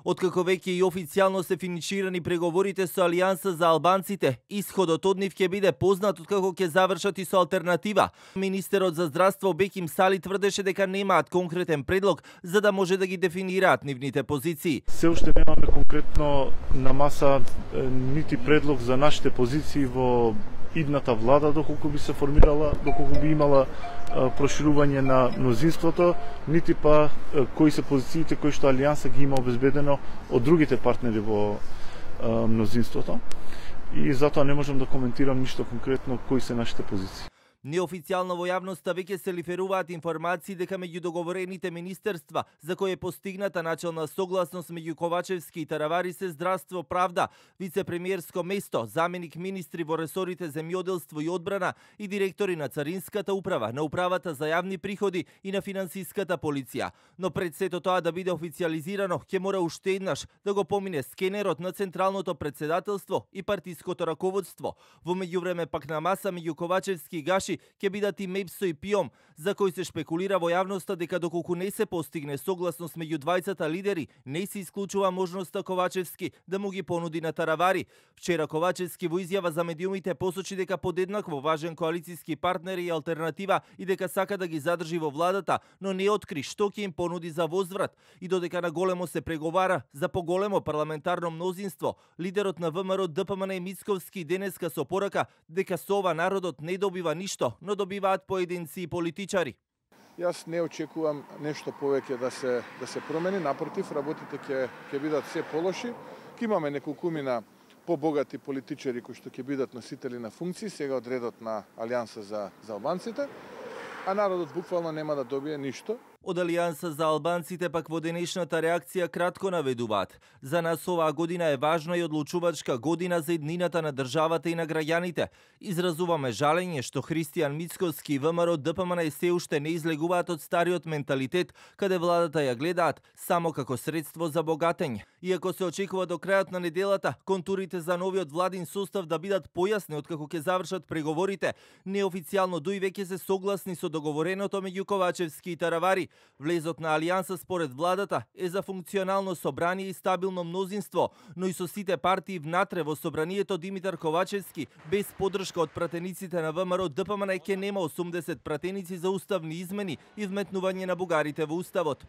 Откако веќе и официјално се финиширани преговорите со Алијанса за албанците, исходот од нив ќе биде познат откако ќе завршат и со алтернатива. Министерот за здравство Беким Сали тврдеше дека немаат конкретен предлог за да може да ги дефинираат нивните позиции. Се уште немаме конкретно на маса нити предлог за нашите позиции во идната влада, доколку би се формирала, доколку би имала проширување на мнозинството, нити па кои се позициите кои што Алијанса ги има обезбедено од другите партнери во мнозинството. И затоа не можам да коментирам ништо конкретно кои се нашите позиции. Неофицијално во јавноста веќе се лиферуваат информации дека меѓу договорените министерства за кои е постигната начелна согласност меѓу Ковачевски и Таравари се здравство, правда, вице-премиерско место, заменик министри во ресорите земјоделство и одбрана и директори на Царинската управа, на управата за јавни приходи и на финансиската полиција. Но пред сето тоа да биде официјализирано, ќе мора уште еднаш да го помине скенерот на Централното претседателство и партиското раководство. Во меѓувреме пак на маса меѓу Ковачевски и Гаши ќе бидат и Мепсо и Пиом, за кој се шпекулира во јавноста дека доколку не се постигне согласност меѓу двајцата лидери, не се исклучува можноста Ковачевски да му ги понуди на Таравари. Вчера Ковачевски во изјава за медиумите посочи дека подеднакво важен коалициски партнер и алтернатива и дека сака да ги задржи во владата, но не откри што ќе им понуди за возврат. И додека на големо се преговара за поголемо парламентарно мнозинство, лидерот на ВМРО ДПМН Мицковски денеска со порака дека со ова народот не добива ништо, но добиваат поединци и политичари. Јас не очекувам нешто повеќе да се промени, напротив, работите ќе бидат се полоши. Ќе имаме неколкумина побогати политичари кои што ќе бидат носители на функции сега од редот на Алијанса за албанците, а народот буквално нема да добие ништо. Од Алијанса за албанците пак во денешната реакција кратко наведуваат. За нас оваа година е важна и одлучувачка година за еднината на државата и на граѓаните. Изразуваме жалење што Христијан Мицковски и ВМРО ДПМН се уште не излегуваат од стариот менталитет, каде владата ја гледаат само како средство за богатење. Иако се очекува до крајот на неделата контурите за новиот владин состав да бидат појасни откако ќе завршат преговорите, неофицијално дуи веќе се согласни со договореното меѓу Ковачевски и Таравари. Влезот на Алијанса според владата е за функционално собрание и стабилно мнозинство, но и со сите партии внатре во собранието Димитар Ковачевски без поддршка од пратениците на ВМРО ДПМН ќе нема 80 пратеници за уставни измени и вметнување на бугарите во уставот.